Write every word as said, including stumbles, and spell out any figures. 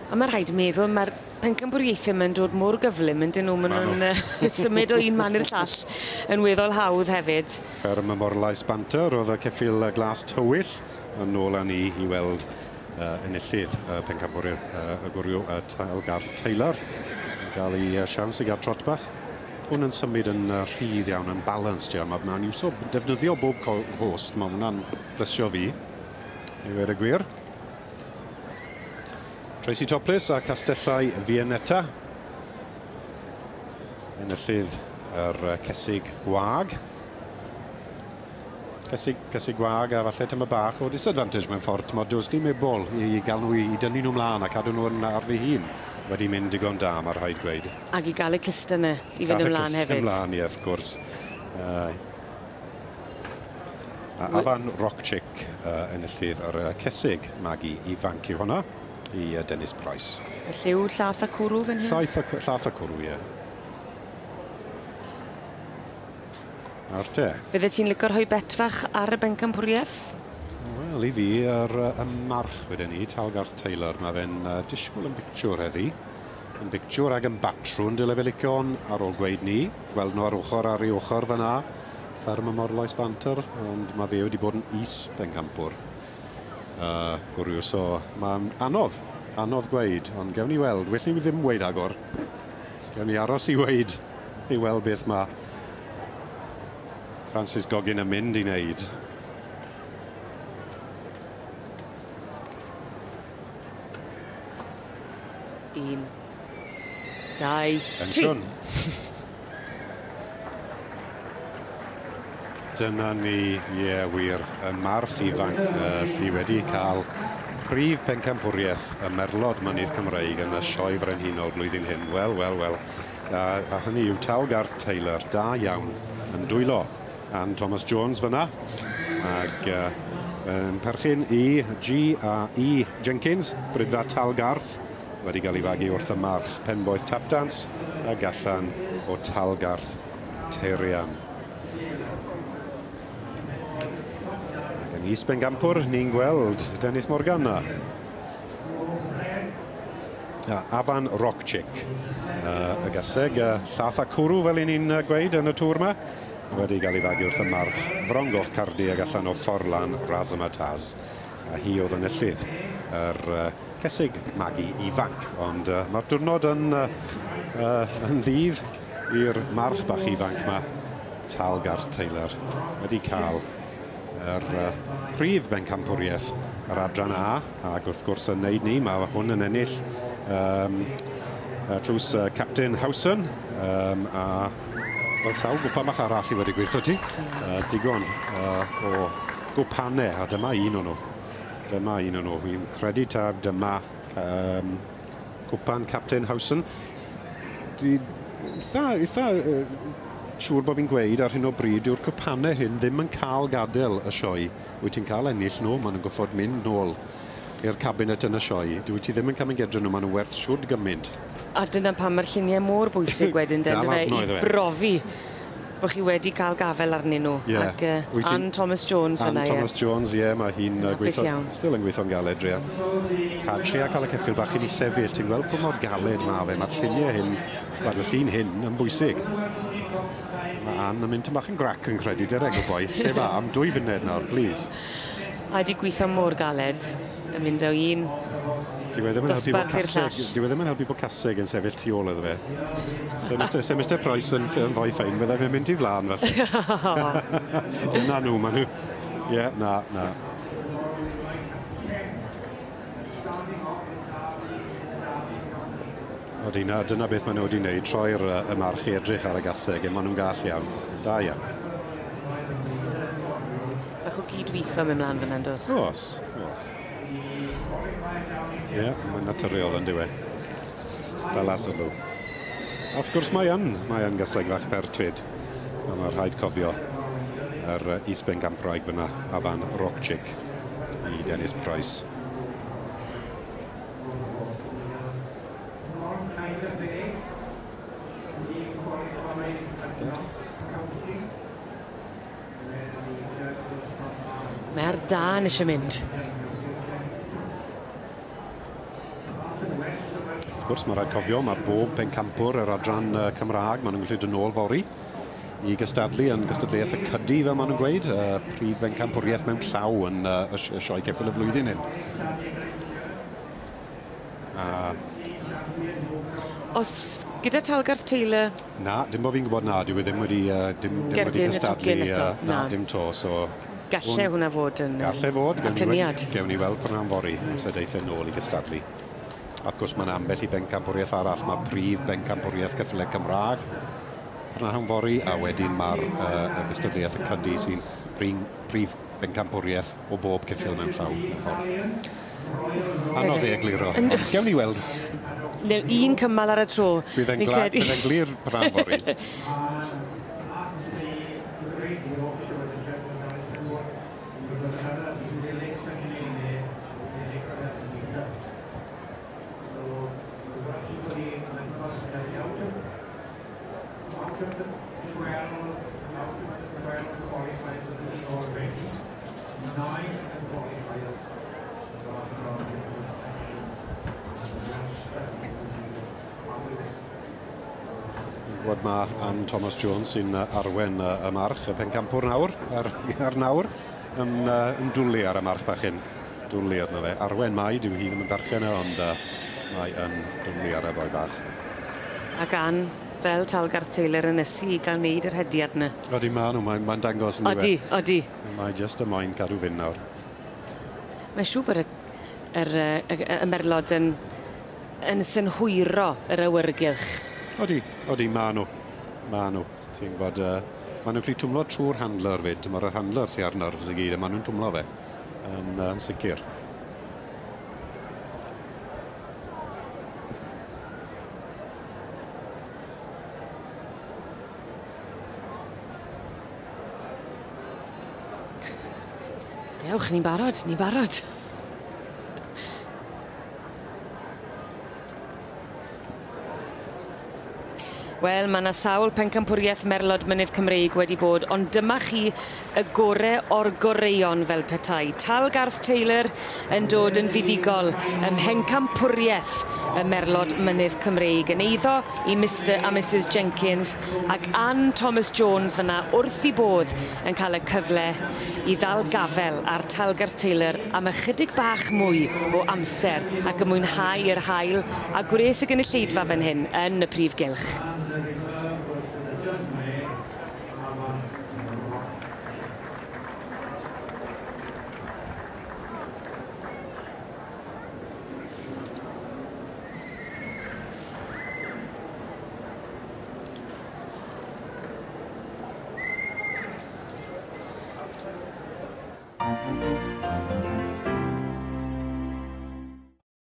A mae rhaid meddwl, mae'r pencampwriaethau yma'n dod mor gyflym yn dyn nhw, maen nhw'n symud o un man i'r llall yn weddol hawdd hefyd. Fferm y Morlais Banter oedd y ceffyl glas tywyll yn ôl â ni i weld uh, enillydd uh, pencampwriaeth uh, y gwryw uh, Talgarth Taylor. Yn gael ei uh, siawns i gael trot bach. Hwn yn symud yn uh, rhydd iawn, yn balanced iawn. Mae'n iwso defnyddio bob host, mae hwnna'n blesio fi, i weud y gwir. Tracy Topliss a Castellau Viennetta. Enillydd yr cesig gwag. Cesig, cesig gwag a falle tyma bach o disadvantage mewn ffordd. Tymod, does dim ebol i gael nhw i, i dynnu nhw mlaen a cadw nhw yn ar ddi hun. Wedi mynd digon da, mae rhaid gweud. Ac i gael y cluster yna i fynd ymlaen hefyd. Cael y ymlaen, ie, wrth gwrs. Uh, a Afan Rockchick uh, enillydd yr cesig magu ifanc yw hwnna i Dennis Price. Y lliw llath a cwrw fan hyn? Llath a, llath a cwrw, ie. Nawr te. Fydde ti'n licio rhoi bet fach ar y bencampwriaeth? Wel, i fi, yr, y march wedyn ni, Talgarth Taylor, mae fe'n uh, disgwyl yn bictiwr heddi. Yn bictiwr ag yn batrwn, dyle fe licio ar ôl gweud ni. Gweld nhw ar ochr ar ei ochr fyna. Fferm y Morlais Banter, ond mae fe wedi bod yn is bencampwr. Uh, gwryw, so mae'n anodd, anodd gweud, ond gewn ni weld. Well ni ddim weud agor. Gewn ni aros i weud, i weld beth mae Francis Goggin yn mynd i wneud. Un, dau, Tensiwn. Tri. Dyna ni, ie, yeah, wir, y march ifanc uh, sydd wedi cael prif pencampwriaeth y Merlod Mynydd Cymreig yn y Sioe Frenhinol blwyddyn hyn. Wel, wel, wel. A, a hynny yw Talgarth Taylor, da iawn, yn dwylo. Ann Thomas Jones fyna, ag uh, yn perchyn i G A E Jenkins, Brydfa Talgarth, wedi cael ei fagu wrth y march Penboeth Tapdance, ag allan o Talgarth Teirian. Is bencampwr, ni'n gweld Dennis Morgan na. Afan Rockchick, uh, y gaseg, uh, llath a cwrw fel i ni'n gweud yn y tŵr yma, wedi gael ei fagu wrth y march Frongoch Cardi ag allan o Fforlan Razamataz. A hi oedd yn enillydd yr uh, cesig magu ifanc, ond uh, mae'r diwrnod yn, uh, uh, yn ddydd i'r march bach ifanc yma, Talgarth Taylor, wedi cael yr uh, prif bencampwriaeth yr adran A, ac wrth gwrs yn neud ni, mae hwn yn ennill um, uh, tlws uh, Captain Howson, um, a wel, sawl gwpan bach arall i wedi gweithio ti. Uh, digon uh, o gwpanau, a dyma un o'n nhw. Dyma un o'n nhw. Fi'n credu tab dyma um, cwpan Captain Howson. Di, eitha, eitha, uh, siŵr bod fi'n gweud ar hyn o bryd yw'r cwpanau hyn ddim yn cael gadael y sioe. Wyt ti'n cael ennill nhw, maen nhw'n gorfod mynd nôl i'r cabinet yn y sioe. Dwyt ti ddim yn cael mynd gedra nhw, maen nhw werth siwd gymaint. A dyna pam mae'r lluniau mor bwysig wedyn, den, dyfe, i brofi bod chi wedi cael gafel arnyn nhw. Yeah. Ac uh, Ann Thomas Jones Ann fyna, Ann Thomas Jones, ie, yeah, mae hi'n uh, gweithio, still yn gweithio'n galed, druan. Ca, tria cael y ceffyl bach i ni sefyll, ti'n gweld pa mor galed mae fe, mae'r lluniau hyn, mae'r llun hyn yn bwysig. Mae Ann yn mynd bach yn grac yn credu, dereg o boi, sef a, am dwy funed nawr, please. A di gweithio mor galed, yn mynd o un Dyw e ddim yn helpu bod dosbarth i'r caseg, llall. dyw e ddim yn helpu bod caseg yn sefyll tu ôl iddo fe. Se Mister Se Mister Price yn, yn fwy ffein, bydde fe'n mynd i flaen felly. Dyna nhw, maen nhw. Ie, yeah, na, na. Odi, na, dyna beth maen nhw wedi wneud, troi'r y march i edrych ar y gaseg, maen nhw'n gall iawn. Da iawn. Bach o gydweithio mynd mlaen fan hyn, does? Oes, oes. Ie, yeah, mae'n naturiol yn diwe. Dala sylw. A wrth gwrs mae yn, mae yn gaseg fach pertfyd. A mae rhaid cofio yr is-bencampwraig fyna, Afan Rockchick, i Dennis Price. Mae ar dân eisiau mynd. Wrth gwrs, mae rhaid cofio, mae bob pencampwr yr adran Cymraeg, maen nhw'n gallu dod nôl fory i gystadlu yn gystadleuaeth y cydi, fel maen nhw'n gweud, uh, prif bencampwriaeth mewn llaw yn uh, y sioe ceffyl y flwyddyn hyn. Uh, Os gyda Talgarth Taylor... Na, dim bod fi'n gwybod na, dyw e ddim wedi, uh, dim, dim wedi cystadlu. Uh, na, na, dim to, so... Galle hwnna fod yn Galle fod, gewn ni, gewn ni weld prynhawn fory, amser deith e nôl i gystadlu. A wrth gwrs, mae'n ambell i bencampwriaeth arall, mae prif bencampwriaeth ceffylau Cymraeg prynhawn fory, a wedyn mae'r uh, y gystadleuaeth y cydi sy'n prif bencampwriaeth o bob ceffyl mewn llaw, mewn ffordd. Anodd ei egluro, ond gewn ni weld. Un cymal ar y tro. Bydd e'n glir prynhawn fory. Gwybod mae Ann Thomas Jones sy'n arwen y march, y pencampwr nawr, ar, ar nawr, yn, yn dwlu ar y march bach hyn. Dwlu arno fe. Arwen mai, dyw hi ddim yn berchen e, ond uh, mae yn dwlu ar y boi bach. Ac Ann, fel Talgarth Taylor yn ysu i gael wneud yr hediad yna. Odi, ma nhw, mae'n mae dangos yn Odi, odi. Mae jyst y moyn cadw fynd nawr. Mae'n siŵr bod y, yr, y, y, y merlod yn, yn synhwyro yr awyrgylch. Odi, odi, ma nhw. Ma nhw. Ti'n gwybod, uh, ma nhw'n gallu twmlo trwy'r handler fyd. Mae'r handler sy'n ar nerves i gyd, a ma nhw'n twmlo fe. Yn, uh, yn sicr. Dewch, ni'n barod, ni'n barod. Wel, mae yna sawl pencampwriaeth Merlod Mynydd Cymreig wedi bod, ond dyma chi y gore o'r goreuon fel petai. Talgarth Taylor yn dod yn fuddugol ym mhencampwriaeth y Merlod Mynydd Cymreig yn eiddo i Mister a Missus Jenkins ac Ann Thomas Jones fyna wrth i bodd yn cael y cyfle i ddal gafel ar Talgarth Taylor am ychydig bach mwy o amser ac yn mwynhau yr haul a gwres y gynulleidfa fan hyn yn y prif gylch.